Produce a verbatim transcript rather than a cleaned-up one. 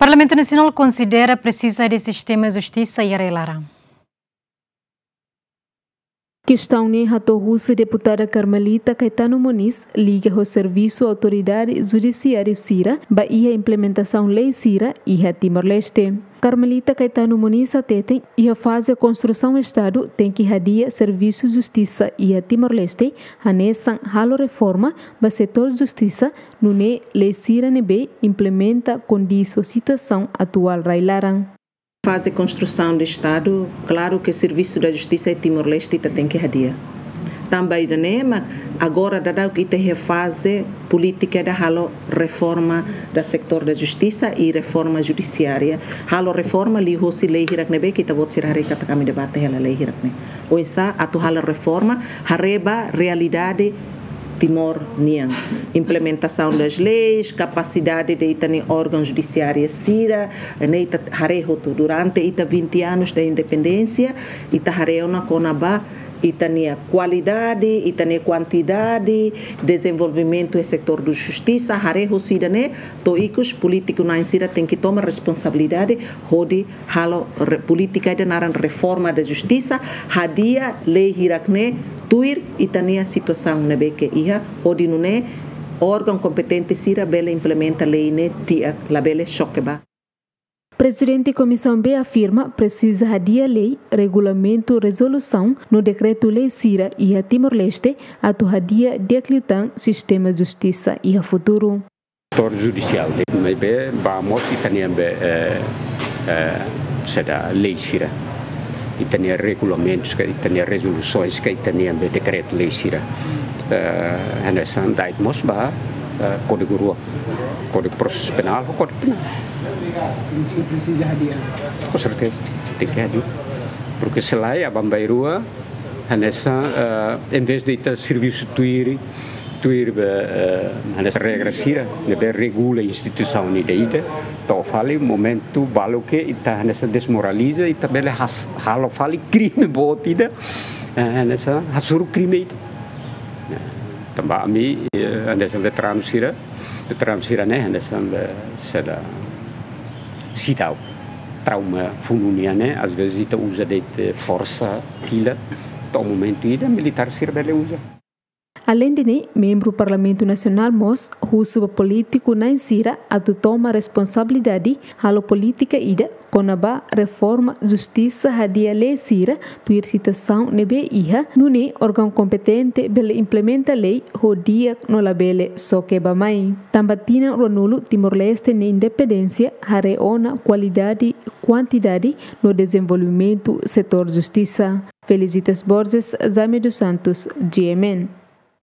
Parlamentu Nasionál konsidera presiza de sistema justisa iha rai-laran. Kestaun ne'e hato'o husi deputada Carmelita Caetano Moniz liga ho servisu autoridade judisiáriu sira ba iha implementasaun lei sira iha Timor-Leste. Carmelita Caetano Moniz hateten iha faze konstrusaun Estadu tenke hadi'a servisu justisa iha Timor-Leste, hanesan halo reforma ba setór justisa, nune'e lei sira ne'ebé implementa kondiz ho situasaun atuál rai-laran. Faze konstrusaun de Estadu, klaru ke servisu da justisa iha Timor-Leste ita tenke hadi'a. Tanba ida-ne'e mak agora daudauk ita iha faze polítika ida halo reforma da setór da justisa i reforma judisiária. Halo reforma liuhosi lei hirak ne'ebé ke ita-boot sira haree katak ami debate hela lei hirak ne'e. Oinsá atu halo reforma, haree ba realidade Timor nian. Implementasaun das leis, kapasidade de ita-nia órgaun judisiária sira, ne'e ita haree hotu. Durante ita vinte anos da independénsia, ita haree ona kona-ba ita-nia kualidade, ita-nia kuantidade, dezenvolvimentu iha setór da justisa, haree hosi ida-ne'e, to'o ikus polítiku na'in sira tenke toma responsabilidade, hodi halo re-, polítika ida naran reforma da justisa, hadi'a lei hirak ne'e tuir ita-nia situasaun ne'ebé ke iha, hodi nune'e órgaun kompetente sira bele implementa lei ne'e di'ak, labele xoke ba. Prezidente Komisaun B afirma presiza hadi'a lei, regulamentu, rezolusaun no dekretu-lei sira iha Timor-Leste atu hadi'a di'ak liután sistema justisa iha futuru. Setór judisiál de'it, maibé ba mós ita-nia be, eh, eh, saida, lei sira, ita-nia regulamentus ka, ita-nia rezolusoens ka, ita-nia be dekretu-lei sira. Eh, hanesan da'et mós ba, eh, kódigu rua, Kódigu Prosesu Penál ho Kódigu Penál. Signifika presiza hadi'a? Com certeza, tenke hadi'a. Porque se lae, aban-bainrua, hanesan, eh, em vez de ita servisu tuir, tuir be, eh, hanesan regra sira ne'ebé regula instituisaun ida-idak, to'o fali momentu balu ke ita hanesan desmoraliza, ita bele has-, halo fali krime boot ida, eh, hanesan hasoru krime ida. Eh, tanba ami, eh, hanesan veteranu sira, veteranu sira ne'e hanesan be, saida, seidauk. Trauma funu nian ne'e, às vezes ita uza de'it forsa tiha, to'o momentu ida militár sira bele uza. Aleinde ne'e, membru Parlamentu Nasionál mós husu ba polítiku na'in sira atu toma responsabilidade halo polítika ida kona-ba reforma justisa, hadi'a lei sira tuir situasaun ne'ebé iha, nune'e órgaun kompetente bele implementa lei ho di'ak no labele xoke ba mai. Tanba tinan ruanulu Timor-Leste nia independénsia, haree ona kualidade, kuantidade no dezenvolvimentu setór justisa. Felicitas Borges, Jaime dos Santos, G M N.